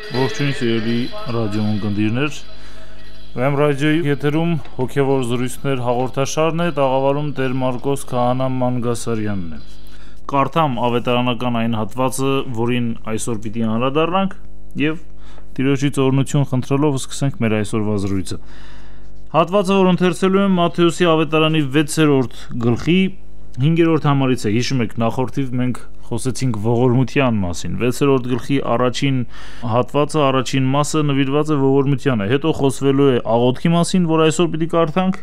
Ողջույն սիրելի ռադիոընկերներ, Վեմ ռադիոյի եթերում հոգևոր զրույցներ հաղորդաշարն է, տաղավարում Տեր Մարկոս Քահանա Մանգասարյանն է։ Կարդամ ավետարանական այն հատվածը, որին այսօր պիտի անդրադառնանք, եւ Տիրոջից օրհնություն խնդրելով սկսենք մեր այսօրվա զրույցը։ Հատվածը, որ ընթերցելու եմ Մատթեոսի ավետարանի 6-րդ գլխի 5-րդ համարից է։ Հիշում եք, նախորդիվ մենք խոսեցինք ողորմության մասին։ 6-րդ գլխի առաջին հատվածը, առաջին մասը նվիրված է ողորմությանը։ Հետո խոսվելու է աղոթքի մասին, որ այսօր պիտի կարդանք,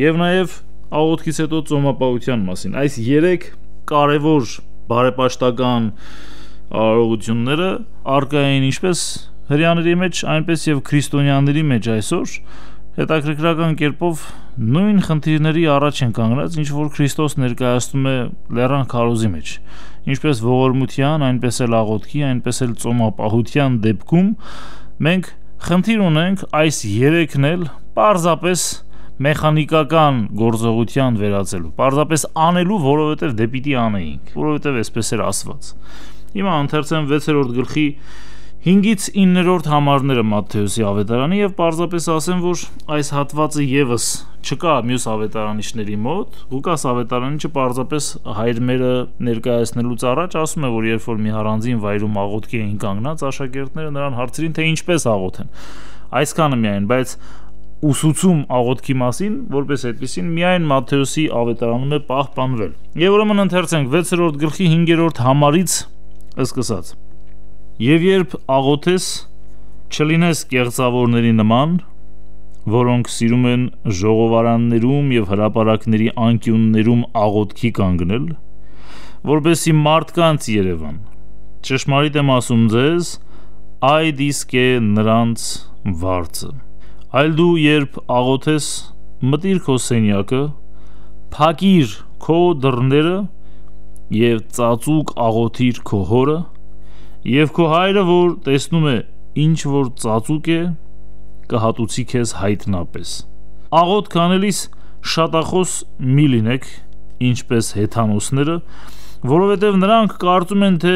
եւ նաեւ աղոթքից հետո ծոմապահության մասին։ Այս 3 կարևոր բարեպաշտական արարողությունները արկա են ինչպես հրեաների մեջ, այնպես եւ քրիստոնյաների մեջ այսօր հետաքրքրական կերպով նույն խնդիրների առաջ են կանգնած, ինչ որ Քրիստոս ներկայացնում է լեռան քարոզի մեջ, ինչպես ողորմության, այնպես էլ աղոթքի, այնպես էլ ծոմապահության դեպքում մենք խնդիր ունենք այս 3-ն էլ պարզապես մեխանիկական գործողության վերածելու, պարզապես անելու, որովհետև դե պիտի անեինք, որովհետև այսպես էր ասված։ Հիմա ընթերցեմ 6-րդ գլխի 5-ից 9-րդ համարները Մատթեոսի ավետարանի եւ պարզապես ասեմ, որ այս հատվածը եւս չկա մյուս ավետարանիչների մոտ։ Ղուկաս ավետարանիչը պարզապես հայրմերը ներկայացնելուց առաջ ասում է, որ երբ որ մի առանձին վայրում աղոթքի էին կանգնած, աշակերտները նրան հարցրին, թե ինչպես աղոթեն։ Այսքանը միայն, բայց ուսուցում աղոթքի մասին, որպես այդպեսին միայն Մատթեոսի ավետարանում է պահպանվել։ Եվ ուրեմն ընթերցենք 6-րդ գլխի 5-րդ համարից սկսած։ Եվ երբ աղոթես, չլինես կեղծավորների նման, որոնք սիրում են ժողովարաններում եւ հրապարակների անկյուններում աղոթքի կանգնել, որպեսզի մարդկանց երևան։ Ճշմարիտ եմ ասում ձեզ, այդ իսկ է նրանց վարձը։ Այլ դու երբ աղոթես, մտիր քո սենյակը, փակիր քո դռները եւ ծածուկ աղոթիր քո հորը, եւ քո հայրը, որ տեսնում է ինչ որ ծածուկ է, կհատուցի քեզ հայտնապես։ Աղոթք անելիս շատախոս մի լինեք, ինչպես հեթանոսները, որովհետև նրանք կարծում են, թե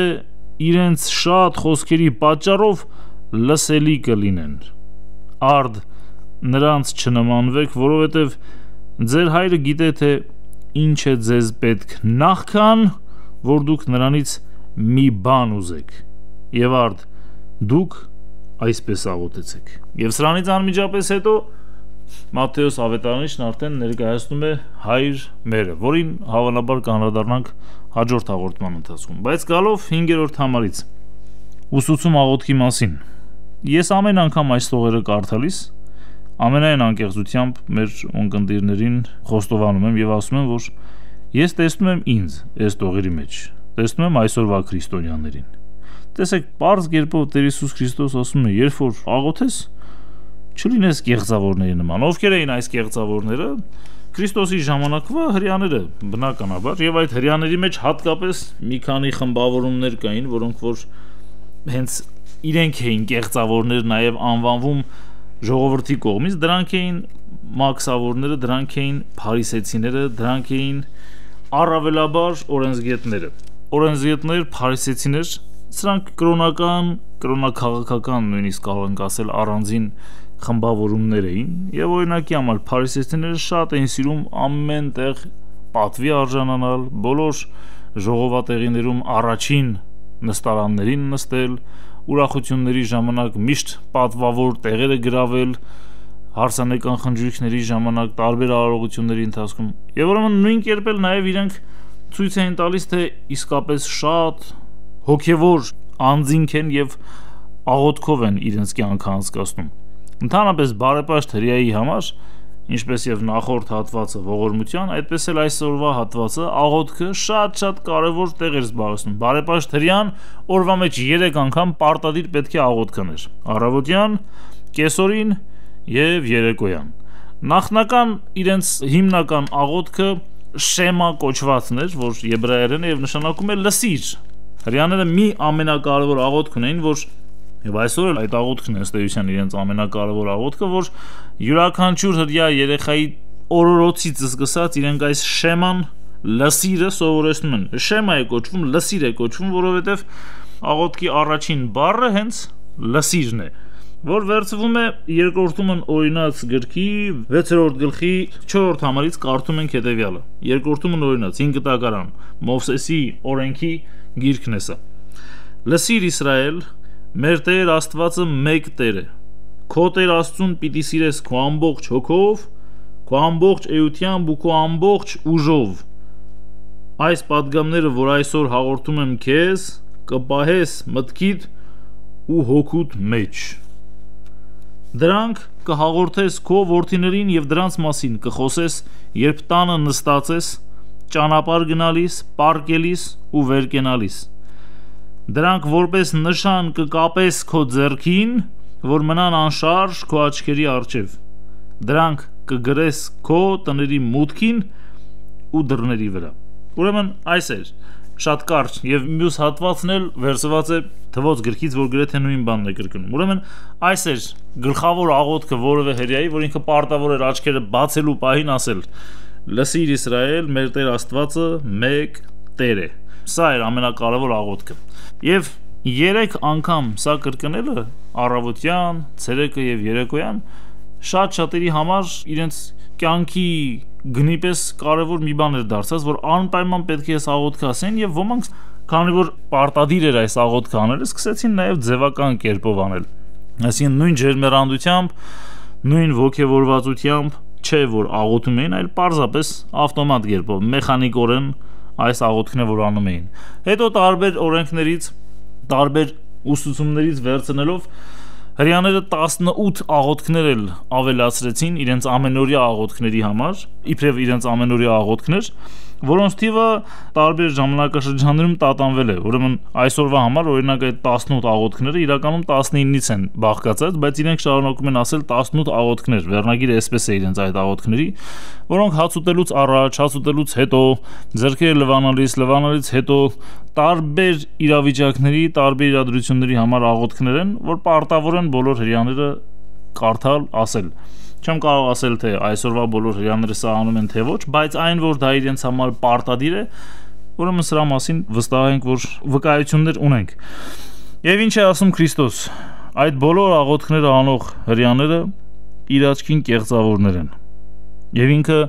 իրենց շատ խոսքերի պատճառով լսելի կլինեն։ Արդ նրանց չնմանվեք, որովհետև ձեր հայրը գիտե, թե ինչ է ձեզ պետք նախքան, որ դուք նրանից մի բան ուզեք։ Եվ արդ դուք այսպես աղոթեցեք։ Եվ սրանից անմիջապես հետո Մատթեոս ավետարանիչն արդեն ներկայացնում է հայր մերը, որին հավանաբար կանդրադառնանք հաջորդ հաղորդման ընթացքում։ Բայց գալով 5-րդ համարից ուսուցում աղոթքի մասին։ Ես ամեն անգամ այս տողերը կարդալիս ամենայն անկեղծությամբ մեր ունկնդիրներին խոստովանում եմ եւ ասում եմ, որ ես տեսնում եմ ինձ այս տողերի մեջ, տեսնում եմ այսօրվա քրիստոնյաներին։ Տեսեք, պարզ կերպով Տեր Հիսուս Քրիստոս ասում է, երբ որ աղոթես, չլինես կեղծավորների նման։ Ովքեր էին այս կեղծավորները? Քրիստոսի ժամանակվա հրեաները, բնականաբար, եւ այդ հրեաների մեջ հատկապես մի քանի խմբավորումներ կային, որոնք որ հենց իրենք էին կեղծավորներ նաեւ անվանվում ժողովրդի կողմից, դրանք էին մաքսավորները, դրանք էին փարիսեցիները, դրանք էին առավելաբար օրենսգետները։ Օրենսգետներ, փարիսեցիներ, սրանք կրոնաքաղաքական նույնիսկ կարող ենք ասել առանձին խմբավորումներ էին, եւ օրինակի համար փարիսեցիները շատ էին սիրում ամեն տեղ պատվի արժանանալ, բոլոր ժողովատեղիներում առաջին նստարաններին նստել, ուրախությունների ժամանակ միշտ պատվավոր տեղերը գրավել, հարսանեկան խնջույքների ժամանակ, տարբեր արարողությունների ընթացքում։ Եվ ուրեմն նույն կերպ էլ նաեւ իրենք ցույց էին տալիս, թե իսկապես շատ հոգևոր անձինք են եւ աղոթքով են իրենց կյանքը անցկացնում։ Ընդհանրապես բարեպաշտ հրեայի համար, ինչպես եւ նախորդ հատվածը ողորմության, այդպես էլ այսօրվա հատվածը աղոթքը շատ կարեւոր տեղ էր զբաղեցնում։ Բարեպաշտ հրեան օրվա մեջ 3 անգամ պարտադիր պետք է աղոթք աներ՝ առավոտյան, կեսօրին եւ երեկոյան։ Նախնական իրենց հիմնական աղոթքը շեմա կոչվածն էր, որ եբրայերեն է եւ նշանակում է լսիր։ Հրեաները մի ամենակարևոր աղոթք ունեին, որ եւ այսօր էլ այդ աղոթքն է ըստ էության իրենց ամենակարևոր աղոթքը, որ յուրաքանչյուր հրեա երեխայի օրորոցից սկսած իրենք այս շեման լսիրը սովորեցնում են։ Շեմա է կոչվում, լսիր է կոչվում, որովհետեւ աղոթքի առաջին բառը հենց լսիրն է, որ վերցվում է երկրորդումն օրինաց գրքի 6-րդ գլխի 4-րդ համարից կարդում ենք հետևյալը։ Երկրորդումն օրինաց 5 տակարան Մովսեսի օրենքի գիրքն է սա։ Լսիր Իսրայել, մեր Տեր Աստվածը մեկ Տեր է։ Քո Տեր Աստծուն պիտի սիրես քո ամբողջ հոգով, քո ամբողջ էությամբ ու քո ամբողջ ուժով։ Այս պատգամները, որ այսօր հաղորդում եմ քեզ, կպահես մտքիդ ու հոգուդ մեջ։ Դրանք կհաղորդես քո որդիներին եւ դրանց մասին կխոսես, երբ տանը նստած ես, ճանապարհ գնալիս, պառկելիս ու վեր կենալիս։ Դրանք որպես նշան կկապես քո ձեռքին, որ մնան անշարժ քո աչքերի առջև։ Դրանք կգրես քո տների մուտքին ու դռների վրա։ Ուրեմն այս էր շատ կարճ եւ մյուս հատվածն էլ վերցված է թվոց գրքից, որ գրեթե նույն բանն է կրկնում։ Ուրեմն այս էր գլխավոր աղոթքը որևէ հրեայի, որ ինքը պարտավոր էր աչքերը բացելու պահին ասել. Լսիր Իսրայել, մեր Տեր Աստվածը մեկ Տեր է։ Սա էր ամենակարևոր աղոթքը։ Եվ 3 անգամ սա կրկնելը առավոտյան, ցերեկը եւ երեկոյան շատ-շատերի համար իրենց կյանքի գնի պես կարևոր մի բան էր դարձած, որ անպայման պետք է այս աղոթքը ասեն, եւ ոմանք, քանի որ պարտադիր էր այս աղոթքը անել, սկսեցին նաեւ ձևական կերպով անել։ Այսինքն նույն ջերմերանությամբ, նույն ոգևորվածությամբ չէ որ աղոթում էին, այլ պարզապես ավտոմատ կերպով, մեխանիկորեն այս աղոթքն որ անում էին։ Հետո տարբեր օրենքներից, տարբեր ուսուցումներից վերցնելով հրեաները 18 աղոթքներ էլ ավելացրեցին իրենց ամենօրյա աղոթքների համար, իբրև իրենց ամենօրյա աղոթքներ, որոնց թիվը տարբեր ժամանակաշրջաններում տատանվել է։ Ուրեմն այսօրվա համար օրինակ այդ 18 աղոթքները իրականում 19-ից են բաղկացած, բայց իրենք շարունակում են ասել 18 աղոթքներ։ Վերնագիրը այսպես է իրենց այդ աղոթքների, որոնք հաց ուտելուց առաջ, հաց ուտելուց հետո, ձեռքերը լվանալից հետո տարբեր իրավիճակների, տարբեր իրադրությունների համար աղոթքներ են, որ պարտավոր են բոլոր հրեաները կարդալ, ասել։ Չեմ կարող ասել, թե այսօրվա բոլոր հրեաները սա անում են, թե ոչ, բայց այն, որ դա իրենց համար պարտադիր է, ուրեմն սրա մասին վստահ ենք, որ վկայություններ ունենք։ Եվ ինչ է ասում Քրիստոս, այդ բոլոր աղոթքները անող հրեաները իր աչքին կեղծավորներ են։ Եվ ինքը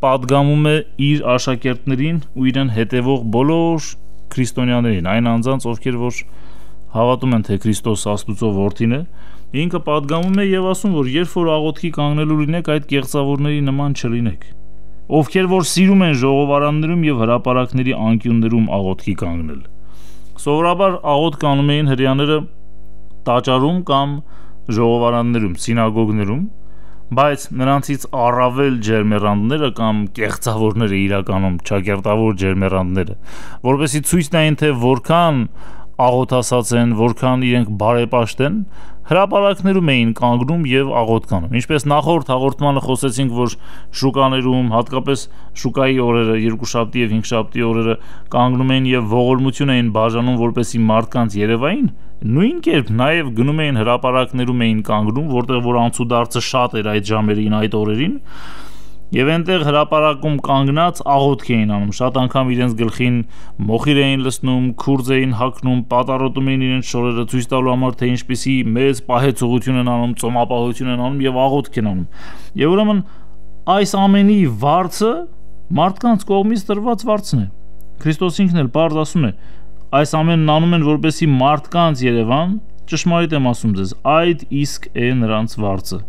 պատգամում է իր աշակերտներին ու իրեն հետևող բոլոր քրիստոնյաներին, այն անձանց, ովքեր որ հավատում են, թե Քրիստոս Աստուծո որդին է, ինքը պատգամում է եւ ասում, որ երբ որ աղոթքի կանգնելու լինեք, այդ կեղծավորների նման չլինեք, ովքեր որ սիրում են ժողովարաններում եւ հրապարակների անկյուններում աղոթքի կանգնել։ Սովորաբար աղոթք անում էին հրեաները տաճարում կամ ժողովարաններում, սինագոգներում, բայց նրանցից առավել ջերմեռանդները կամ կեղծավորները իրականում ճակերտավոր ջերմեռանդները, որովհետեւ ցույց տային, թե որքան աղոթասած են, որքան իրենք բարեպաշտ են, հրապարակներում էին կանգնում եւ աղոթք անում։ Ինչպես նախորդ հաղորդմանը խոսեցինք, որ շուկաներում, հատկապես շուկայի օրերը, երկուշաբթի եւ հինգշաբթի օրերը կանգնում էին եւ ողորմություն էին բաժանում, որպեսզի մարդկանց երևային, նույն կերպ նաեւ գնում էին հրապարակներում էին կանգնում, որտեղ որ անցուդարձը շատ էր այդ ժամերին, այդ օրերին, եւ այնտեղ հրապարակում կանգնած աղոթք էին անում, շատ անգամ իրենց գլխին մոխիր էին լցնում, քուրձ էին հագնում, պատառոտում էին իրենց շորերը ցույց տալու համար, թե ինչպիսի մեծ պահեցողություն են անում, ծոմապահություն են անում եւ աղոթք են անում։ Եվ ուրեմն այս ամենի վարձը մարդկանց կողմից տրված վարձն է։ Քրիստոս ինքն էլ բարձ ասում է, այս ամենն անում են, որպեսզի մարդկանց Երևան, ճշմարիտ եմ ասում ձեզ, այդ իսկ է նրանց վարձը։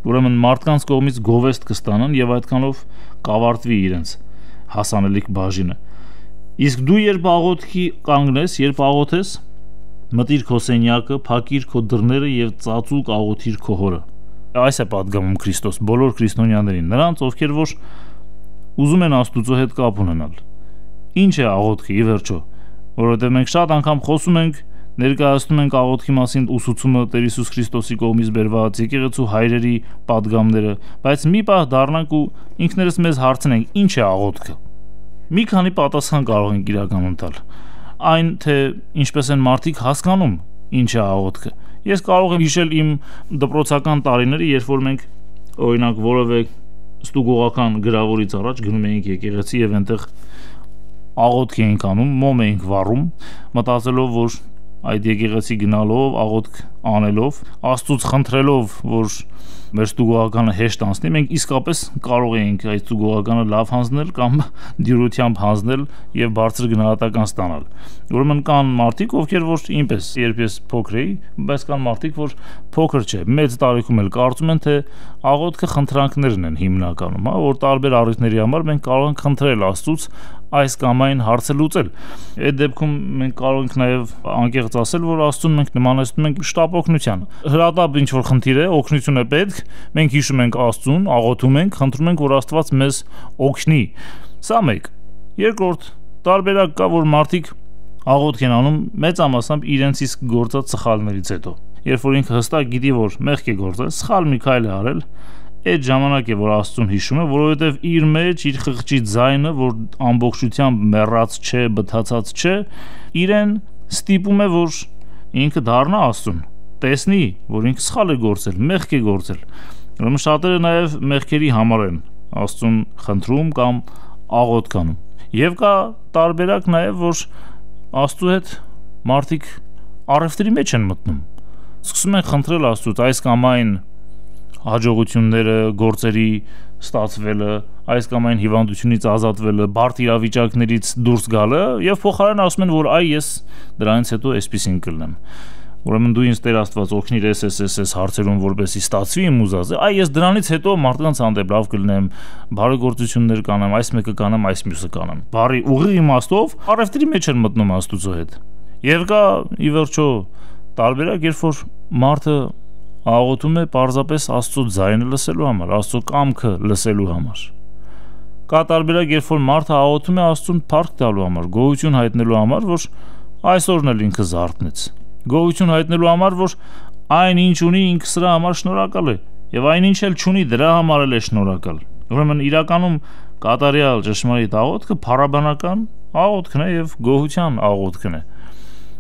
Ուրեմն մարդկանց կողմից գովեստ կստանան եւ այդքանով կավարտվի իրենց հասանելիք բաժինը։ Իսկ դու երբ աղոթքի կանգնես, երբ աղոթես, մտիր քո սենյակը, փակիր քո դռները եւ ծածուկ աղոթիր քո հորը։ Այս է պատգամում Քրիստոս բոլոր քրիստոնյաներին, նրանց, ովքեր որ ուզում են Աստուծո հետ կապ ունենալ։ Ինչ է աղոթքը ի վերջո, որովհետեւ մենք շատ անգամ խոսում ենք, ներկայացնում ենք աղոթքի մասին ուսուցումը Տեր Հիսուս Քրիստոսի կողմից բերված եկեղեցու հայրերի պատգամները, բայց մի պահ դառնանք ու ինքներս մեզ հարցնենք, ինչ է աղոթքը։ Մի քանի պատասխան կարող ենք իրականում տալ։ Այն, թե ինչպես են մարդիկ հասկանում, ինչ է աղոթքը։ Ես կարող եմ հիշել իմ դպրոցական տարիները, երբ որ մենք օրինակ որևէ ստուգողական գրավորից առաջ գնում էինք եկեղեցի եւ այնտեղ աղոթք էինք անում, մոմ էինք վառում, մտածելով, որ այդ եկեղեցի գնալով, աղոթք անելով, Աստծուց խնդրելով, որ մեր ստուգողականը հեշտ անցնի, մենք իսկապես կարող էինք այդ ստուգողականը լավ հանձնել կամ դյուրությամբ հանձնել եւ բարձր գնահատական ստանալ։ Ուրեմն կան մարդիկ, ովքեր որ ինպես, երբ ես փոքր էի, բայց կան մարդիկ, որ փոքր չէ, մեծ տարիքում էլ կարծում են, թե աղոթքը խնդրանքներն են հիմնականում, որ տարբեր առիթների համար մենք կարող ենք խնդրել Աստծուց այս կամ այն հարցը լուծել։ Այդ դեպքում մենք կարող ենք նաև անկեղծ ասել, որ Աստծուն մենք նմանեցնում ենք շտապ օգնության։ Հրատապ ինչ որ խնդիր է, օգնություն է պետք, մենք հիշում ենք Աստծուն, աղոթում ենք, խնդրում ենք, որ Աստված մեզ օգնի։ Սա մեկ։ Երկրորդ, տարբերակ կա, որ մարդիկ աղոթք են անում մեծամասամբ իրենց իսկ գործած սխալներից հետո։ Երբ որ ինքը հստակ գիտի, որ մեղք է գործել, սխալ մի քայլ է արել, այդ ժամանակ է, որ Աստծուն հիշում է, որովհետև իր մեջ իր խղճի ձայնը, որ ամբողջությամբ մեռած չէ, բթացած չէ, իրեն ստիպում է, որ ինքը դառնա Աստծուն, տեսնի, որ ինքը սխալ է գործել, մեղք է գործել։ Ուրեմն շատերը նաև մեղքերի համար են Աստծուն խնդրում կամ աղոթք անում։ Եվ կա տարբերակ նաև, որ Աստծու հետ մարդիկ առևտրի մեջ են մտնում։ Սկսում են խնդրել Աստծուց այս կամ այն հաջողությունները, գործերի ստացվելը, այս կամ այն հիվանդությունից ազատվելը, բարդ իրավիճակներից դուրս գալը եւ փոխարեն ասում են, որ այ ես դրանից հետո էսպիսին կլնեմ։ Ուրեմն դու ինձ Տեր Աստված օգնիր այս հարցերում, որպեսզի ստացվի իմ ուզածը, այ ես դրանից հետո մարդկանց հանդեպ լավ կլնեմ, բարեգործություններ կանեմ, այս մեկը կանեմ, այս մյուսը կանեմ։ Բարի ուղիղ իմաստով առևտրի մեջ են մտնում Աստծո հետ։ Եվ կա ի վերջո տարբերակ, երբ որ մարդը աղոթում է պարզապես Աստծո ձայնը լսելու համար, Աստծո կամքը լսելու համար։ Կա տարբերակ, երբ որ մարդը աղոթում է Աստծուն փառք տալու համար, գոհություն հայտնելու համար, որ այսօրն էլ ինքը զարթնեց։ Գոհություն հայտնելու համար, որ այն ինչ ունի ինքը սրա համար շնորհակալ է, եւ այն ինչ էլ չունի դրա համար էլ է շնորհակալ։ Ուրեմն իրականում կատարյալ ճշմարիտ աղոթքը փառաբանական աղոթքն է եւ գոհության աղոթքն է։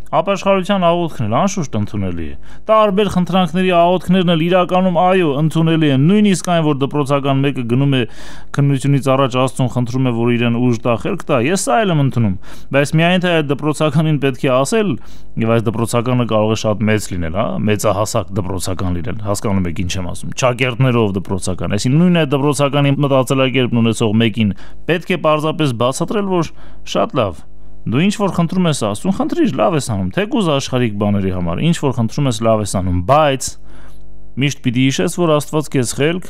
Ապաշխարության աղոթքն էլ անշուշտ ընդունելի է։ Տարբեր խնդրանքների աղոթքներն էլ իրականում այո ընդունելի են։ Նույնիսկ այն, որ դպրոցական մեկը գնում է քննությունից առաջ Աստծուն խնդրում է, որ իրեն ուժ տա, խելք տա, ես սա էլ եմ ընդունում։ Բայց միայն թե այդ դպրոցականին պետք է ասել, եւ այս դպրոցականը կարող է շատ մեծ լինել, մեծահասակ դպրոցական լինել։ Հասկանում եք ինչ եմ ասում։ Ճակերտներով դպրոցական, այսինքն նույն այդ դպրոցականի մտածելակերպն ունեցող մեկին պետք է պարզապես բացատրել, որ շատ լավ դու ինչ որ խնդրում ես Աստծուն, խնդրիր, լավ ես անում, թեկուզ աշխարհիկ բաների համար, ինչ որ խնդրում ես լավ ես անում, բայց միշտ պիտի հիշես, որ Աստված քեզ խելք,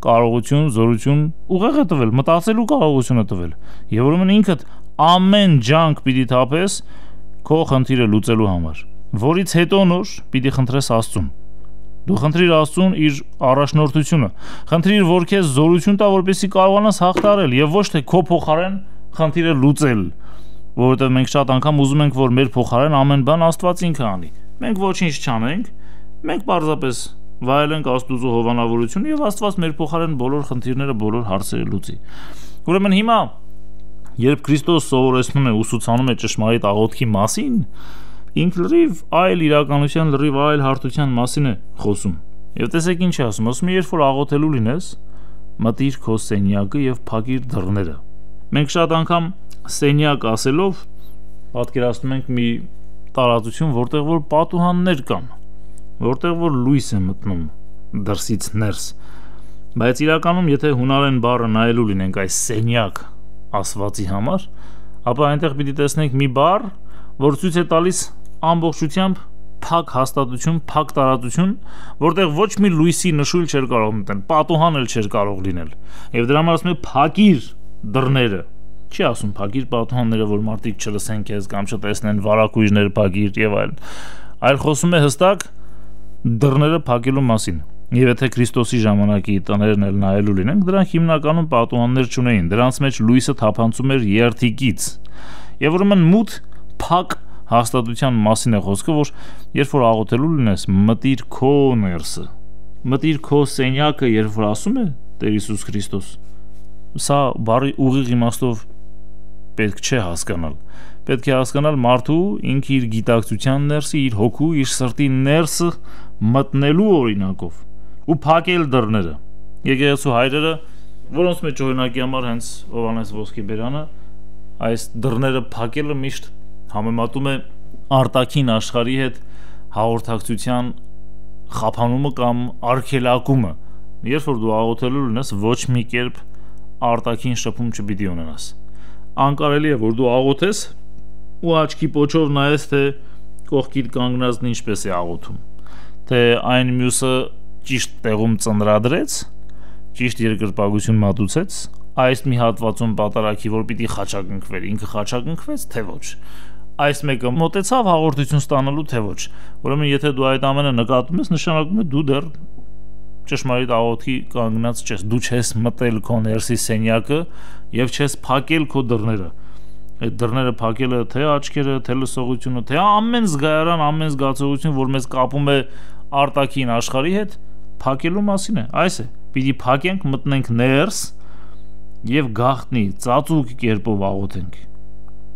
կարողություն, զորություն ուղեղ է տվել, մտածելու կարողություն է տվել։ Եվ ուրեմն ինքդ ամեն ջանք պիտի թափես քո խնդիրը լուծելու համար, որից հետո նոր պիտի խնդրես Աստծուն։ Դու խնդրիր Աստծուն իր առաջնորդությունը, խնդրիր, որ քեզ զորություն տա, որպեսզի կարողանաս հաղթահարել եւ ոչ թե քո փոխարեն խնդիրը լուծել, որովհետեւ մենք շատ անգամ ուզում ենք, որ մեր փոխարեն ամեն բան Աստված ինքը անի։ Մենք ոչինչ չանենք, մենք պարզապես վայելենք Աստծո հովանավորությունը եւ Աստված մեր փոխարեն բոլոր խնդիրները, բոլոր հարցերը լուծի։ Ուրեմն հիմա, երբ Քրիստոս սովորեցնում է, ուսուցանում է ճշմարիտ աղոթքի մասին, ինքը լրիվ այլ իրականության, լրիվ այլ հարթության մասին է խոսում։ Եվ տեսեք ինչ է ասում, ասում է, երբ որ աղոթելու լինես, մտիր քո սենյակը եւ փակիր դռները։ Մենք շատ անգամ սենյակ ասելով պատկերացնում ենք մի տարածություն, որտեղ որ պատուհաններ կան, որտեղ որ լույս է մտնում դրսից ներս։ Բայց իրականում, եթե հունարեն բառը նայելու լինենք այս սենյակ ասվածի համար, ապա այնտեղ պիտի տեսնենք մի բառ, որ ցույց է տալիս ամբողջությամբ փակ հաստատություն, փակ տարածություն, որտեղ ոչ մի լույսի նշույլ չէր կարող մտնել, պատուհան էլ չէր կարող լինել։ Եվ դրա համար ասում է փակիր դռները։ Չի ասում փակիր պատուհանները, որ մարդիկ չլսեն քեզ կամ չտեսնեն, վարակույրներ փակիր եւ այլն, այլ խոսում է հստակ դռները փակելու մասին։ Եվ եթե Քրիստոսի ժամանակի տներն էլ նայելու լինենք, դրանք հիմնականում պատուհաններ չունեին, դրանց մեջ լույսը թափանցում էր երթիկից։ Եվ ուրեմն մութ փակ հաստատության մասին է խոսքը, որ երբ որ աղոթելու լինես, մտիր քո ներսը, մտիր քո սենյակը, երբ որ ասում է Տեր Հիսուս Քրիստոս, սա բարի ուղիղ իմաստով պետք չէ հասկանալ։ Պետք է հասկանալ մարդու ինքը իր գիտակցության ներսը, իր հոգու, իր սրտի ներսը մտնելու օրինակով ու փակել դռները։ Եկեղեցու հայրերը, որոնց մեջ օրինակի համար հենց Հովհաննես Ոսկեբերյանը այս դռները փակելը միշտ համեմատում է արտաքին աշխարհի հետ հաղորդակցության խափանումը կամ արգելակումը, երբ որ դու աղոթելու լինես, ոչ մի կերպ արտաքին շփում չպիտի ունենաս։ Անկարելի է, որ դու աղոթես ու աչքի պոչով նայես, թե կողքիդ կանգնածն ինչպես է աղոթում, թե այն մյուսը ճիշտ տեղում ծնրադրեց, ճիշտ երկրպագություն մատուցեց, այս մի հատվածում պատարակի, որ պիտի խաչակնքվեր, ինքը խաչակնքվեց, թե ոչ, այս մեկը մոտեցավ հաղորդություն ստանալու, թե ոչ։ Ուրեմն եթե դու այդ ամենը նկատում ես, նշանակում է դու դեռ ճշմարիտ աղոթքի կանգնած չես, դու չես մտել քո ներսի սենյակը եւ չես փակել քո դռները։ Այդ դռները փակելը թե աչքերը, թե լսողությունը, թե ամեն զգայարան, ամեն զգացողություն, որ մեզ կապում է արտաքին աշխարհի հետ, փակելու մասին է։ Այս է, պիտի փակենք, մտնենք ներս եւ գաղտնի ծածուկ կերպով աղոթենք։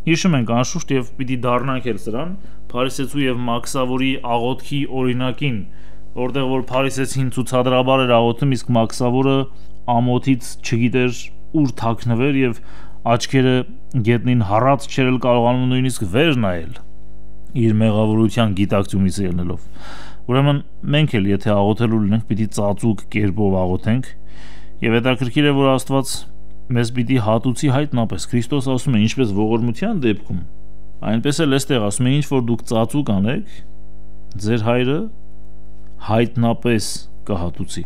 Հիշում ենք անշուշտ եւ պիտի դառնանք էլ սրան Փարիսեցու եւ Մաքսավորի աղոթքի օրինակին, որտեղ որ Փարիսեցին ցուցադրաբար էր աղոթում, իսկ Մաքսավորը ամոթից չգիտեր ուր թաքնվեր եւ աչքերը գետնին հառած չերել կարողանում նույնիսկ վեր նայել իր մեղավորության գիտակցումից ելնելով։ Ուրեմն մենք էլ եթե աղոթելու լինենք, պիտի ծածուկ կերպով աղոթենք եւ հետաքրքիր է, որ Աստված մեզ պիտի հատուցի հայտնապես։ Քրիստոս ասում է, ինչպես ողորմության դեպքում, այնպես էլ էստեղ ասում է, ինչ որ դուք ծածուկ անեք, ձեր հայրը հայտնապես կհատուցի։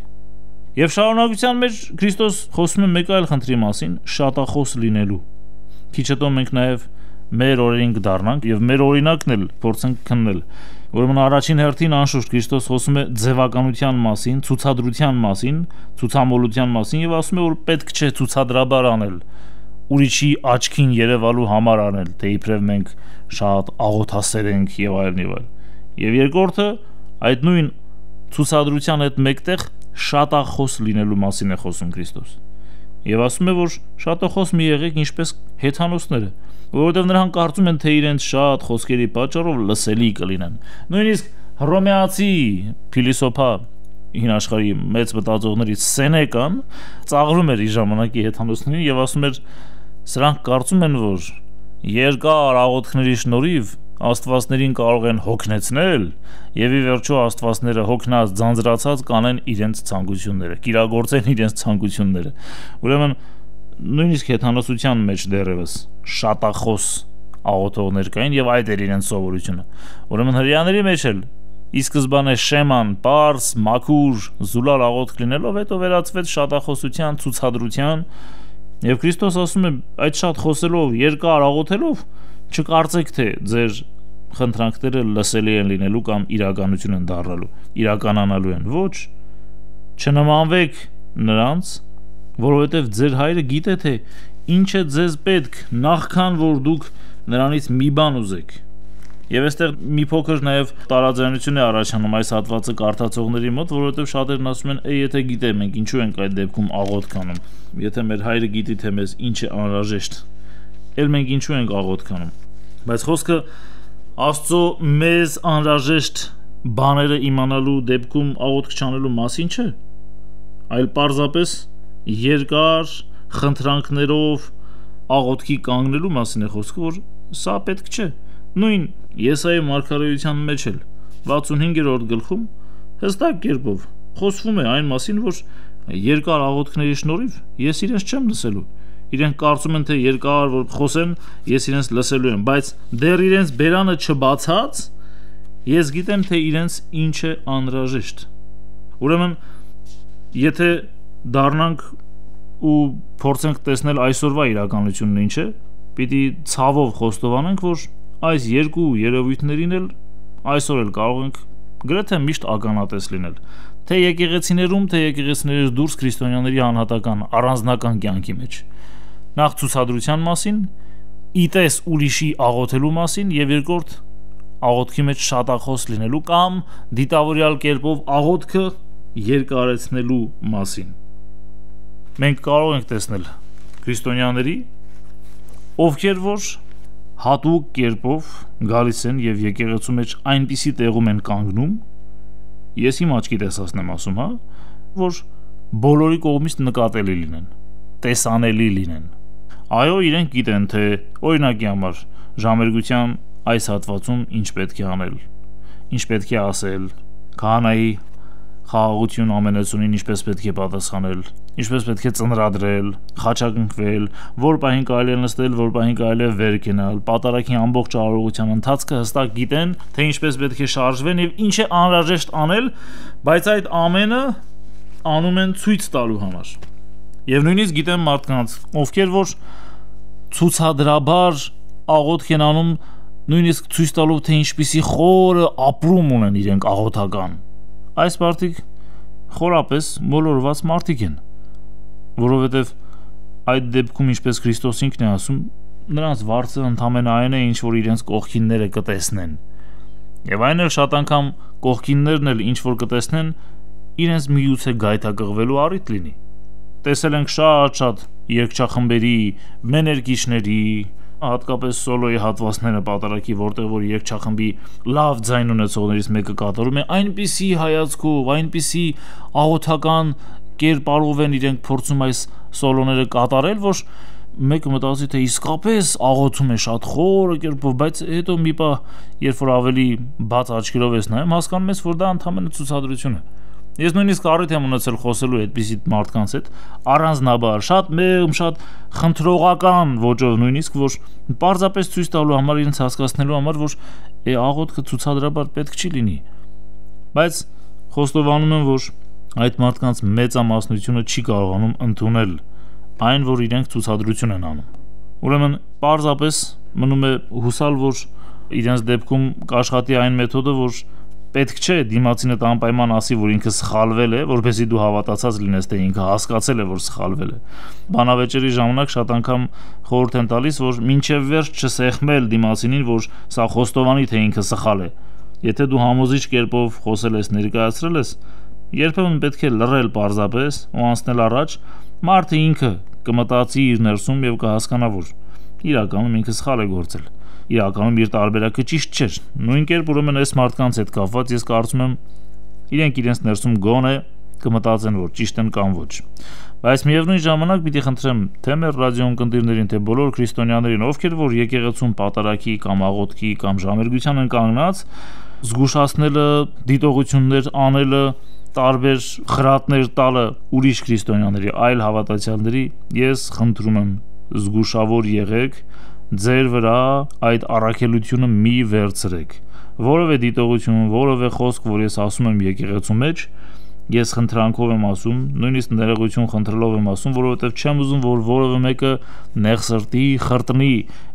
Եվ շարունակության մեջ Քրիստոս խոսում է մեկ այլ խնդրի մասին՝ շատախոս լինելու։ Քիչ հետո մենք նաև մեր օրերին կդառնանք եւ մեր օրինակն էլ փորձենք քննել։ Ուրեմն առաջին հերթին անշուշտ Քրիստոս խոսում է ձևականության մասին, ցուցադրության մասին, ցուցամոլության մասին եւ ասում է, որ պետք չէ ցուցադրաբար անել, ուրիշի աչքին երևալու համար անել, թե իբրև մենք շատ աղոթասեր ենք եւ այլն եւ այլն։ Եվ երկրորդը այդ նույն ցուցադրության հետ մեկտեղ շատախոս լինելու մասին է խոսում Քրիստոս։ Եվ ասում է, որ շատախոս մի եղեք ինչպես հեթանոսները, որովհետև նրանք կարծում են, թե իրենց շատ խոսքերի պատճառով լսելի կլինեն։ Նույնիսկ հռոմեացի փիլիսոփա հին աշխարհի մեծ մտածողներից Սենեկան ծաղրում էր իր ժամանակի հեթանոսներին եւ ասում էր, սրանք կարծում են, որ երկար աղոթքների շնորհիվ աստվածներին կարող են հոգնեցնել եւ ի վերջո աստվածները հոգնած ձանձրացած կանեն իրենց ցանկությունները, կիրագործեն իրենց ցանկությունները։ Ուրեմն նույնիսկ հեթանոսության մեջ դեռևս շատախոս աղոթողներ կային եւ այդ էր իրենց սովորությունը։ Ուրեմն հրեաների մեջ էլ ի սկզբանե շեման, պարս, մաքուր, զուլալ աղոթք լինելով հետո վերածվեց շատախոսության, ցուցադրության եւ Քրիստոս ասում է, այդ շատ խոսելով, երկար աղոթելով չկարծեք, թե ձեր խնդրանքները լսելի են լինելու կամ իրականություն են դառնալու, իրականանալու են։ Ոչ, չնմանվեք նրանց, որովհետև ձեր հայրը գիտե, թե ինչ է ձեզ պետք, նախքան որ դուք նրանից մի բան ուզեք։ Եվ այստեղ մի փոքր նաև տարաձայնություն է առաջանում այս հատվածը կարդացողների մոտ, որովհետև շատերն ասում են, եթե գիտե մենք ինչու ենք այդ դեպքում աղոթք անում, եթե մեր հայրը գիտի, թե մեզ ինչ է անհրաժեշտ, էլ մենք ինչու ենք աղոթք անում։ Բայց խոսքը Աստծո մեզ անհրաժեշտ բաները իմանալու դեպքում աղոթք չանելու մասին չէ, այլ պարզապես երկար խնդրանքներով աղոթքի կանգնելու մասին է խոսքը, որ սա պետք չէ։ Նույն Եսայի մարգարեության մեջ էլ 65-րդ գլխում հստակ կերպով խոսվում է այն մասին, որ երկար աղոթքների շնորհիվ ես իրենց չեմ լսելու։ Իրենք կարծում են, թե երկար որ խոսեն, ես իրենց լսելու եմ, բայց դեռ իրենց բերանը չբացած, ես գիտեմ, թե իրենց ինչ է անհրաժեշտ։ Ուրեմն, եթե դառնանք ու փորձենք տեսնել այսօրվա իրականությունն ինչ է, պիտի ցավով խոստովանենք, որ այս երկու երևույթներին էլ այսօր էլ կարող ենք գրեթե միշտ ականատես լինել, թե եկեղեցիներում, թե եկեղեցիներից դուրս քրիստոնյաների անհատական առանձնական կյանքի մեջ։ Նախ ցուցադրության մասին, իտես ուրիշի աղոթելու մասին եւ երկրորդ աղոթքի մեջ շատախոս լինելու կամ դիտավորյալ կերպով աղոթքը երկարեցնելու մասին։ Մենք կարող ենք տեսնել քրիստոնյաների, ովքեր որ հատուկ կերպով գալիս են եւ եկեղեցու մեջ այնպիսի տեղում են կանգնում, ես իմ աչքի տեսածն եմ ասում, հա, որ բոլորի կողմից նկատելի լինեն, տեսանելի լինեն։ Այո, իրենք գիտեն, թե օրինակի համար ժամերգության այս հատվածում ինչ պետք է անել, ինչ պետք է ասել, քահանայի խաղաղություն ամենեցունին ինչպես պետք է պատասխանել, ինչպես պետք է ծնրադրել, խաչակնկվել, որ պահին կարելի է նստել, որ պահին կարելի է վեր կենալ, պատարագի ամբողջ արարողության ընթացքը հստակ գիտեն, թե ինչպես պետք է շարժվեն եւ ինչ է անհրաժեշտ անել, բայց այդ ամենը անում են ցույց տալու համար։ Եվ նույնիսկ գիտեմ մարդկանց, ովքեր որ ցուցադրաբար աղոթք են անում, նույնիսկ ցույց տալով, թե ինչպիսի խորը ապրում ունեն իրենք աղոթական։ Այս մարդիկ խորապես մոլորված մարդիկ են, որովհետև այդ դեպքում ինչպես Քրիստոս ինքն է ասում, նրանց վարձը ընդամենը այն է, ինչ որ իրենց կողքինները կտեսնեն։ Եվ այն էլ շատ անգամ կողքիններն էլ ինչ որ կտեսնեն, իրենց միուց է գայթակղվելու առիթ լինի։ Տեսել ենք շատ երգչախմբերի, մեներգիչների, հատկապես սոլոյի հատվածները պատարագի, որտեղ որ երգչախմբի լավ ձայն ունեցողներից մեկը կատարում է, այնպիսի հայացքով, այնպիսի աղոթական կերպարով են իրենք փորձում այս սոլոները կատարել, որ մեկը մտածի, թե իսկապես աղոթում է շատ խորը կերպով, բայց հետո մի պահ, երբ որ ավելի բաց աչքերով ես նայում, հասկանում ես, որ դա ընդհանրապես ցուցադրություն է։ Ես նույնիսկ առիթ եմ ունեցել խոսելու այդպիսի մարդկանց հետ առանձնաբար, շատ մեղմ, շատ խնդրողական ոճով նույնիսկ, որ պարզապես ցույց տալու համար, իրենց հասկացնելու համար, որ աղոթքը ցուցադրաբար պետք չի լինի։ Բայց խոստովանում եմ, որ այդ մարդկանց մեծամասնությունը չի կարողանում ընդունել այն, որ իրենք ցուցադրություն են անում։ Ուրեմն պարզապես մնում է հուսալ, որ իրենց դեպքում կաշխատի այն մեթոդը, որ պետք չէ դիմացինդ անպայման ասի, որ ինքը սխալվել է, որպեսզի դու հավատացած լինես, թե ինքը հասկացել է, որ սխալվել է։ Բանավեճերի ժամանակ շատ անգամ խորհուրդ են տալիս, որ մինչև վերջ չսեղմել դիմացինին, որ սա խոստովանի, թե ինքը սխալ է։ Եթե դու համոզիչ կերպով խոսել ես, ներկայացրել ես, երբեմն պետք է լռել պարզապես ու անցնել առաջ, մարդը ինքը կմտածի իր ներսում եւ կհասկանա, որ իրականում ինքը սխալ է գործել։ Իրականում իր տարբերակը ճիշտ չէր։ Նույն կերպ ուրեմն այս մարդկանց հետ կապված ես կարծում եմ իրենք իրենց ներսում գոնե կմտածեն, որ ճիշտ են կամ ոչ։ Բայց միևնույն ժամանակ պիտի խնդրեմ թե մեր ռադիոընկերներին, թե բոլոր քրիստոնյաներին, ովքեր որ եկեղեցում պատարագի կամ աղոթքի կամ ժամերգության են կանգնած, զգուշացնելը, դիտողություններ անելը, տարբեր խրատներ տալը ուրիշ քրիստոնյաների, այլ հավատացյալների, ես խնդրում եմ զգուշավոր եղեք, ձեր վրա այդ առաքելությունը մի վերցրեք։ Որևէ դիտողություն, որևէ խոսք, որ ես ասում եմ եկեղեցու մեջ, ես խնդրանքով եմ ասում, նույնիսկ ներողություն խնդրելով եմ ասում, որովհետև չեմ ուզում, որ որևէ մեկը նեղ սրտի խրտնի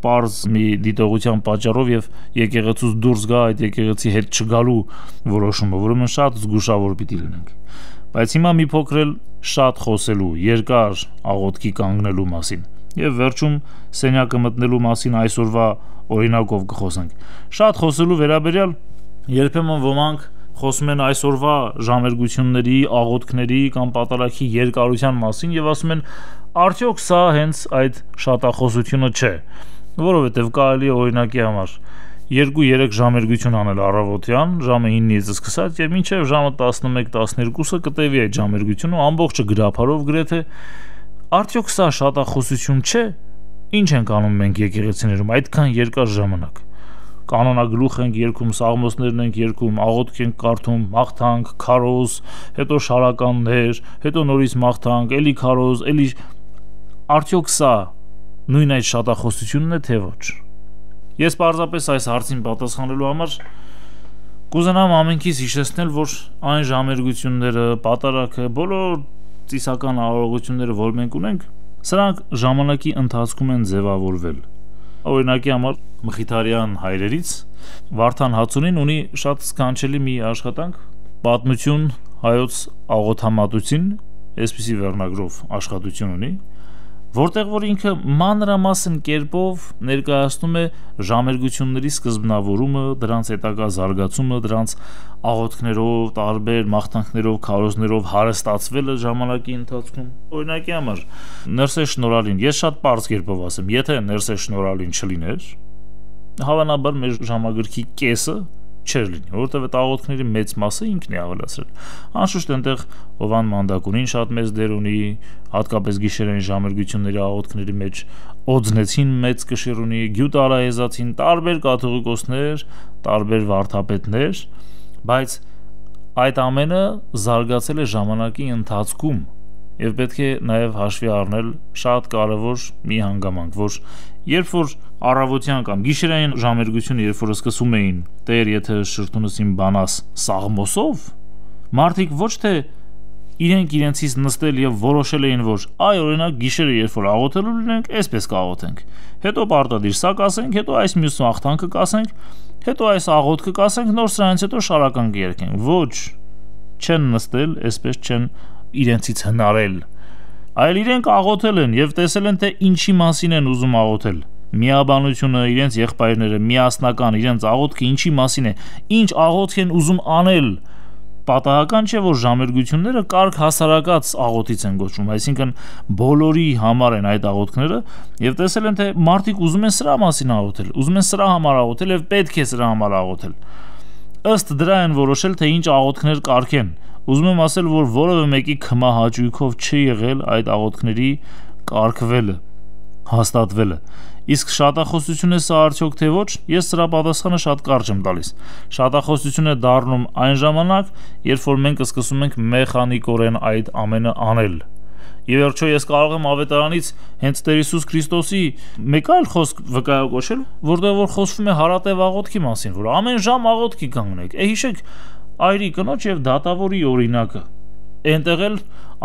պարզ մի դիտողության պատճառով եւ եկեղեցուց դուրս գա այդ եկեղեցի հետ չգալու որոշումը, ուրեմն շատ զգուշավոր պիտի լինենք։ Բայց հիմա մի փոքր էլ շատ խոսելու, երկար աղոթքի կանգնելու մասին եւ վերջում սենյակը մտնելու մասին այսօրվա օրինակով կխոսենք։ Շատ խոսելու վերաբերյալ երբեմն ոմանք խոսում են այսօրվա ժամերգությունների, աղոթքների կամ պատարագի երկարության մասին եւ ասում են արդյոք սա հենց այդ շատախոսությունը չէ, որովհետեւ կարելի է օրինակի համար 2-3 ժամերգություն անել առավոտյան ժամը 9-ից սկսած եւ մինչեւ ժամը 11-12-ը կտևի այդ ժամերգությունը ամբողջը գրափարով գրեթե արդյոք սա շատախոսություն չէ։ Ինչ ենք անում մենք եկեղեցիներում այդքան երկար ժամանակ։ Կանոնագլուխ ենք երգում, սաղմոսներն ենք երգում, աղոթք ենք կարդում, մաղթանք, քարոզ, հետո շարականներ, հետո նորից մաղթանք, էլի քարոզ, էլի արդյոք սա նույն այդ շատախոսությունն է թե ոչ։ Ես պարզապես այս հարցին պատասխանելու համար կուզենամ ամենքից հիշեցնել, որ այն ժամերգությունները, պատարագը, բոլոր ծիսական արարողությունները, որ մենք ունենք, սրանք ժամանակի ընթացքում են ձևավորվել։ Օրինակի համար Մխիթարյան հայրերից Վարդան Հացունին ունի շատ սքանչելի մի աշխատանք, պատմություն հայոց աղոթամատուցին, այսպիսի վերնագրով աշխատություն ունի, որտեղ որ ինքը մանրամասն կերպով ներկայացնում է ժամերգությունների սկզբնավորումը, դրանց հետագա զարգացումը, դրանց աղոթքներով, տարբեր մաղթանքներով, քարոզներով հարստացվելը ժամանակի ընթացքում։ Օրինակի համար Ներսե Շնորհալին, ես շատ պարզ կերպով ասեմ, եթե Ներսե Շնորհալին չլիներ, հավանաբար մեր ժամագրքի կեսը Չէր լինի, որովհետև այդ աղոթքների մեծ մասը ինքն է ավելացրել։ Անշուշտ այնտեղ Հովան Մանդակունին շատ մեծ դեր ունի, հատկապես գիշերային ժամերգությունների աղոթքների մեջ Օձնեցին մեծ կշիռ ունի, Գյուտ Արայեզացին, տարբեր կաթողիկոսներ, տարբեր վարդապետներ, բայց այդ ամենը զարգացել է ժամանակի ընթացքում եւ պետք է նաեւ հաշվի առնել շատ կարեւոր մի հանգամանք, որ երբ որ առավոտյան կամ գիշերային ժամերգությունը երբ որ սկսում էին Տեր եթե շրթունս իմ բանաս սաղմոսով, մարդիկ ոչ թե իրենք իրենցից նստել եւ որոշել էին, որ այ օրինակ գիշերը երբ որ աղոթելու լինենք, այսպես կաղոթենք, հետո պարտադիր սա կասենք, հետո այս մյուս աղթանքը կասենք, հետո այս աղոթքը կասենք, նոր սրանից հետո շարական կերկենք։ Ոչ, չեն նստել, այսպես չեն իրենցից հնարել, այլ իրենք աղոթել են եւ տեսել են թե ինչի մասին են ուզում աղոթել, միաբանությունը, իրենց եղբայրները, միասնական, իրենց աղոթքը ինչի մասին է, ինչ աղոթք են ուզում անել, պատահական չէ, որ ժամերգությունները կարգ հասարակած աղոթից են գոչվում, այսինքն բոլորի համար են այդ աղոթքները եւ տեսել են թե մարդիկ ուզում են սրա մասին աղոթել, ուզում են սրա համար աղոթել եւ պետք է սրա համար աղոթել, ըստ դրա են որոշել թե ինչ աղոթքներ կարգեն։ Ուզում եմ ասել, որ որևէ մեկի քմահաճույքով չի եղել այդ աղոթքների կարգվելը, հաստատվելը։ Իսկ շատախոսություն է սա արդյոք թե ոչ, ես սրա պատասխանը շատ կարճ եմ տալիս։ Շատախոսություն է դառնում այն ժամանակ, երբ որ մենք սկսում ենք մեխանիկորեն այդ ամենը անել։ Եվ վերջո ես կարող եմ ավետարանից հենց Տեր Հիսուս Քրիստոսի մեկ այլ խոսք վկայակոչել, որտեղ որ խոսվում է հարատև աղոթքի մասին, որ ամեն ժամ աղոթքի կանգնեք։ Հիշեք Այրի կնոջ եւ դատավորի օրինակը։ Այնտեղ էլ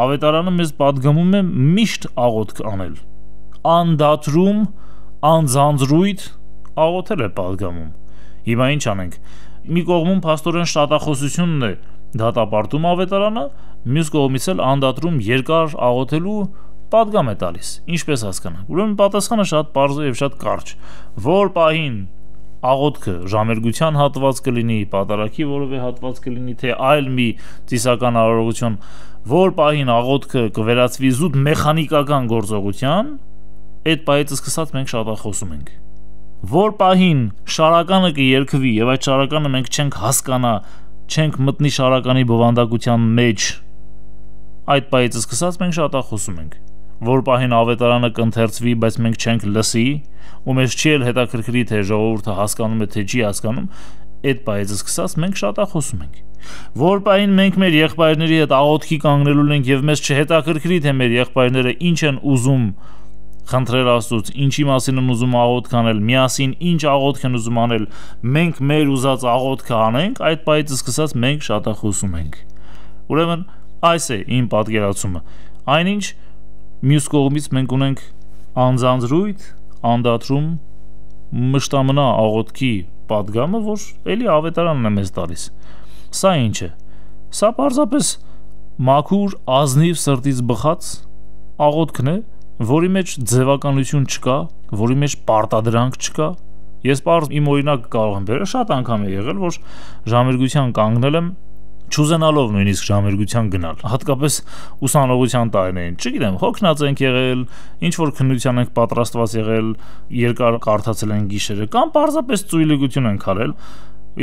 ավետարանը մեզ պատգամում է միշտ աղոթք անել։ Անդատրում, անձանձրույթ աղոթել է պատգամում։ Հիմա ինչ անենք։ Մի կողմում փաստորեն շատախոսությունն է դատապարտում ավետարանը, մյուս կողմից էլ անդատրում երկար աղոթելու պատգամ է տալիս։ Ինչպես հասկանանք։ Ուրեմն պատասխանը շատ պարզ է եւ շատ կարճ։ Որ պահին աղոթքը ժամերգության հատված կլինի, պատարագի որևէ հատված կլինի, թե այլ մի ծիսական արարողություն, որ պահին աղոթքը կվերածվի զուտ մեխանիկական գործողության, այդ պահից սկսած մենք շատախոսում ենք։ Որ պահին շարականը կերկվի եւ այդ շարականը մենք չենք հասկանա, չենք մտնի շարականի բովանդակության մեջ, այդ պահից սկսած մենք շատախոսում ենք։ Որ պահին ավետարանը կընթերցվի, բայց մենք չենք լսի, ու մեզ չի էլ հետաքրքրի թե ժողովուրդը հասկանում է թե չի հասկանում, այդ պահից սկսած մենք շատախոսում ենք։ Որ պահին մենք մեր եղբայրների հետ աղոթքի կանգնելու ենք եւ մեզ չհետաքրքրի թե մեր եղբայրները ինչ են ուզում խնդրել Աստծուց, ինչի մասին են ուզում աղոթք անել, միասին ինչ աղոթք են ուզում անել, մենք մեր ուզած աղոթքը անենք, այդ պահից սկսած մենք շատախոսում ենք։ Ուրեմն այս է իմ պատկերացումը։ Այնինչ մյուս կողմից մենք ունենք անձանձրույթ, անդատրում, մշտամնա աղոթքի պատգամը, որ էլի ավետարանն է մեզ տալիս։ Սա ինչ է։ Սա պարզապես մաքուր, ազնիվ սրտից բխած աղոթքն է, որի մեջ ձևականություն չկա, որի մեջ պարտադրանք չկա։ Ես պարզ իմ օրինակ կարող եմ բերել, շատ անգամ է եղել, որ ժամերգության կանգնել եմ չուզենալով նույնիսկ ժամերգության գնալ, հատկապես ուսանողության տարիներին, չգիտեմ, հոգնած ենք եղել, ինչ որ քննության ենք պատրաստված եղել, երկար կարդացել ենք գիշերը, կամ պարզապես ծույլիկություն ենք արել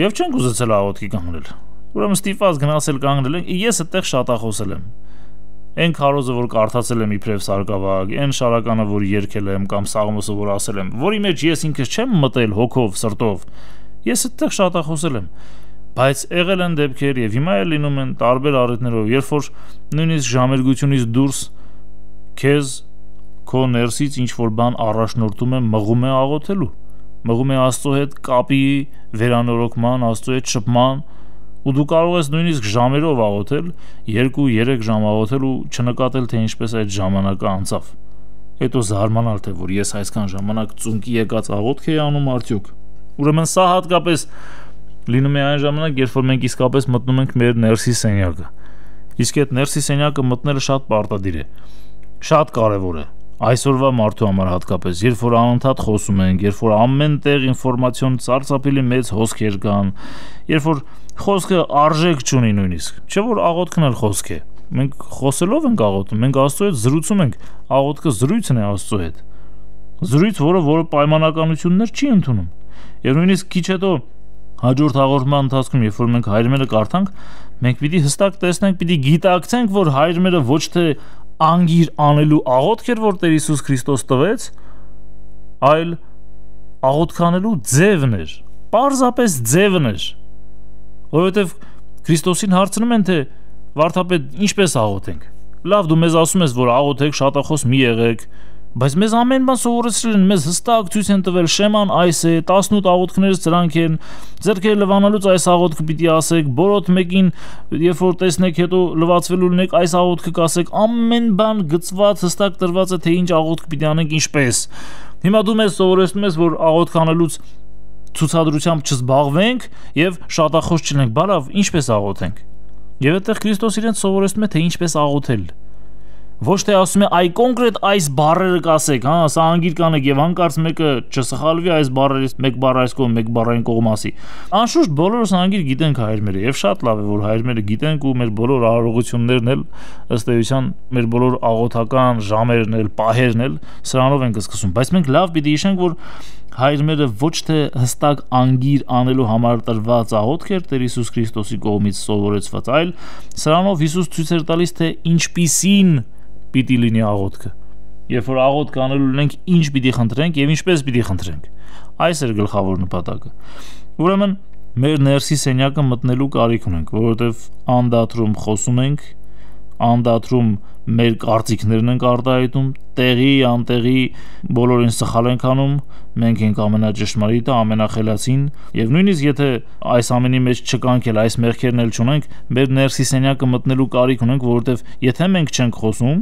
եւ չենք ուզեցել աղոթքի կանգնել։ Ուրեմն ստիպված գնացել կանգնել ենք, ես այդտեղ շատախոսել եմ։ Այն քարոզը, որ կարդացել եմ իբրև սարկավագ, այն շարականը, որ երգել եմ, կամ սաղմոսը, որ ասել եմ, որի մեջ ես ինքս չեմ մտել հոգով, սրտով, ես այդտեղ շատախոսել եմ։ Բայց եղել են դեպքեր եւ հիմա էլ լինում են տարբեր առիթներով, երբ որ նույնիսկ ժամերգությունից դուրս քեզ քո ներսից ինչ որ բան առաջնորդում է, մղում է աղոթելու, մղում է Աստծո հետ կապի վերանորոգման, Աստծո հետ շփման, ու դու կարող ես նույնիսկ ժամերով աղոթել, 2-3 ժամ աղոթել ու չնկատել թե ինչպես այդ ժամանակը անցավ։ Հետո զարմանալ թե որ ես այսքան ժամանակ ծունկի եկած աղոթք էի անում արդյոք։ Ուրեմն սա հատկապես լինում է այն ժամանակ, երբ որ մենք իսկապես մտնում ենք մեր ներսի սենյակը։ Իսկ այդ ներսի սենյակը մտնելը շատ պարտադիր է, շատ կարևոր է։ Այսօրվա մարդու համար հատկապես, երբ որ անընդհատ խոսում ենք, երբ որ ամեն տեղ ինֆորմացիոն սարսափելի մեծ հոսքեր կան, երբ որ խոսքը արժեք չունի նույնիսկ, չէ որ աղոթքն էլ խոսք է։ Մենք խոսելով ենք աղոթում, մենք Աստծո հետ զրուցում ենք, աղոթքը զրույցն է Աստծո հետ։ Զրույց, որը պայմանականություններ չի ընդունում։ Եվ նույնիսկ քիչ հետո Հաջորդ հաղորդման ընթացքում, երբ որ մենք հայրմերը կարդանք, մենք պիտի հստակ տեսնենք, պիտի գիտակցենք, որ հայրմերը ոչ թե անգիր անելու աղոթք էր, որ Տեր Հիսուս Քրիստոս տվեց, այլ աղոթք անելու ձևն էր, պարզապես ձևն էր, որովհետև Քրիստոսին հարցնում են, թե վարդապետ, ինչպես աղոթենք։ Լավ, դու մեզ ասում ես, որ աղոթեք, շատախոս մի եղեք, բայց մեզ ամեն բան սովորեցրել են, մեզ հստակ ցույց են տվել, շեման այս է, 18 աղոթքներից սրանք են, ձեռքերը լվանալուց այս աղոթքը պիտի ասեք, բոլորդ մեկին, երբ որ տեսնեք, հետո լվացվելու լինեք, այս աղոթքը կասեք, ամեն բան գծված, հստակ տրված է, թե ինչ աղոթք պիտի անենք, ինչպես։ Հիմա դու մեզ սովորեցնում ես, որ աղոթք անելուց ցուցադրությամբ չզբաղվենք եւ շատախոս չլինենք, բալավ, ինչպես աղոթենք։ Եվ այդտեղ Քրիստոս իրենց սովորեցնում է, թե ինչպես աղոթել։ Ոչ թե ասում է այ կոնկրետ այս բառերը կասեք, հա, սա անգիր կանեք եւ հանկարծ մեկը չսխալվի այս բառերից, մեկ բառ այս կողմ, մեկ բառ այն կողմասի։ Անշուշտ բոլորս անգիր գիտենք հայրմերը եւ շատ լավ է, որ հայրմերը գիտենք ու մեր բոլոր արարողություններն էլ ըստ էության մեր բոլոր աղոթական ժամերն էլ, պահերն էլ սրանով ենք սկսում, բայց մենք լավ պիտի հիշենք, որ հայրմերը ոչ թե հստակ անգիր անելու համար տրված աղոթք էր Տեր Հիսուս Քրիստոսի կողմից սովորեցված, այլ սրանով Հիսուս ցույց էր տալիս, թե ինչպիսին պիտի լինի աղոթքը։ Երբ որ աղոթք անելու լինենք, ինչ պիտի խնդրենք եւ ինչպես պիտի խնդրենք։ Այս էր գլխավոր նպատակը։ Ուրեմն մեր ներսի սենյակը մտնելու կարիք ունենք, որովհետեւ անդատրում խոսում ենք, անդատրում մեր կարծիքներն ենք արտահայտում, տեղի, անտեղի բոլորին սխալ ենք անում, մենք ենք ամենաճշմարիտը, ամենախելացին, եւ նույնիսկ եթե այս ամենի մեջ չկանք էլ, այս մեղքերն էլ չունենք, մեր ներսի սենյակը մտնելու կարիք ունենք, որովհետեւ եթե մենք չենք խոսում,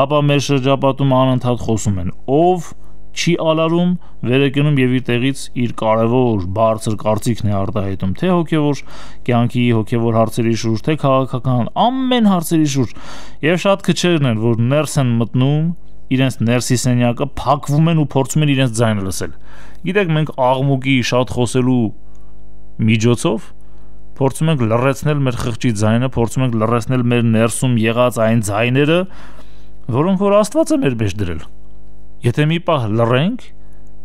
ապա մեր շրջապատում անընդհատ խոսում են, ով չի ալարում, վերեկնում եւ իր տեղից իր կարևոր բարձր կարծիքն է արտահայտում, թե հոգեվոր կյանքի, հոգեվոր հարցերի շուրջ, թե քաղաքական, ամեն հարցերի շուրջ։ Եվ շատ քչերն են, որ ներս են մտնում, իրենց ներսի սենյակը փակվում են ու փորձում են իրենց ձայնը լսել։ Գիտեք, մենք աղմուկի շատ խոսելու միջոցով փորձում ենք լռեցնել մեր խղճի ձայնը, փորձում ենք լռեցնել մեր ներսում եղած այն ձայները, որոնք որ Աստված է մեր մեջ դրել։ Եթե մի պահ լռենք,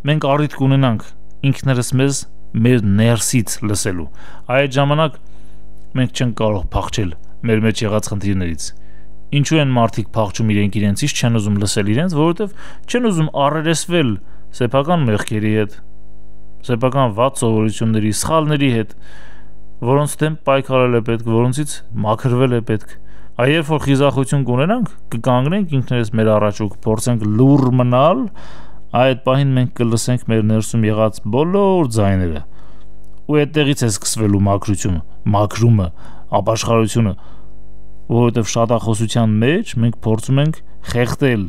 մենք առիթ կունենանք ինքներս մեզ մեր ներսից լսելու։ Այդ ժամանակ մենք չենք կարող փախչել մեր մեջ եղած խնդիրներից։ Ինչու են մարդիկ փախչում իրենցից, չեն ուզում լսել իրենց, որովհետև չեն ուզում առերեսվել սեփական մեղքերի հետ, սեփական վատ սովորությունների, սխալների հետ, որոնց դեմ պայքարել է պետք, որոնցից մաքրվել է պետք։ Երբ որ խիզախություն կունենանք, կկանգնենք ինքներս մեր առաջ ու կփորձենք լուռ մնալ, այդ պահին մենք կլսենք մեր ներսում եղած բոլոր ձայները։ Ու այդտեղից է սկսվելու մաքրությունը, մաքրումը, ապաշխարությունը, որովհետև շատախոսության մեջ մենք փորձում ենք խեղդել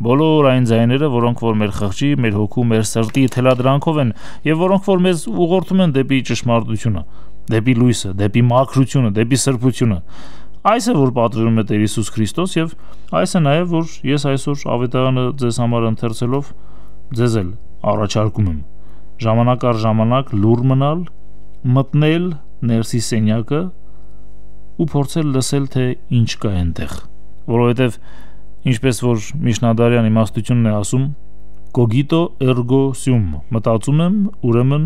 բոլոր այն ձայները, որոնք որ մեր խղճի, մեր հոգու, մեր սրտի թելադրանքով են եւ որոնք որ մեզ ուղղորդում են դեպի ճշմարտությունը, դեպի լույսը, դեպի մաքրությունը, դեպի սրբությունը։ Այս է որ պատժում է Տեր Հիսուս Քրիստոս եւ այս է նաեւ որ ես այսօր ավետարանը ձեզ համար ընթերցելով ձեզ էլ առաջարկում եմ ժամանակ առ ժամանակ լուռ մնալ, մտնել ներսի սենյակը ու փորձել լսել թե ինչ կա այնտեղ, որովհետեւ ինչպես որ Միշնադարյան իմաստությունն է ասում, cogito ergo sum, մտածում եմ, ուրեմն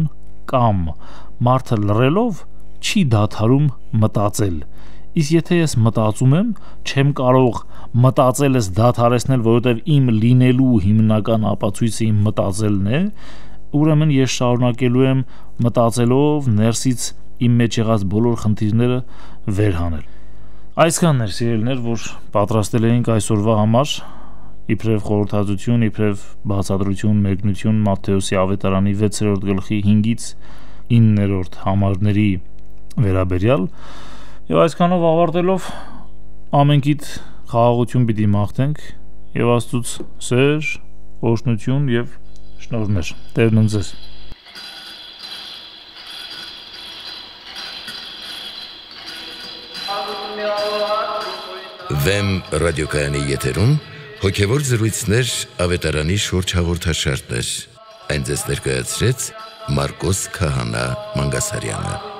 կամ, մարդը լռելով չի դադարում մտածել։ Իսկ եթե ես մտածում եմ, չեմ կարող մտածելս դադարեցնել, որովհետև իմ լինելու հիմնական ապացույցը իմ մտածելն է, ուրեմն ես շարունակելու եմ մտածելով ներսից իմ մեջ եղած բոլոր խնդիրները վեր հանել։ Այսքանն էր սիրելիներ, որ պատրաստել էինք այսօրվա համար, իբրև խորհրդածություն, իբրև բացատրություն, մեկնություն Մատթեոսի ավետարանի 6-րդ գլխի 5-ից 9-րդ համարների վերաբերյալ։ Եվ այսքանով ավարտելով ամենքիդ խաղաղություն պիտի մաղթենք եւ Աստծուց սեր, օրհնություն եւ շնորհներ։ Տերն ընձեզ։ Վեմ ռադիոկայանի եթերում հոգևոր զրույցներ ավետարանի շուրջ հաղորդաշարներ։ Այն ձեզ ներկայացրեց Մարկոս Քահանա Մանգասարյանը։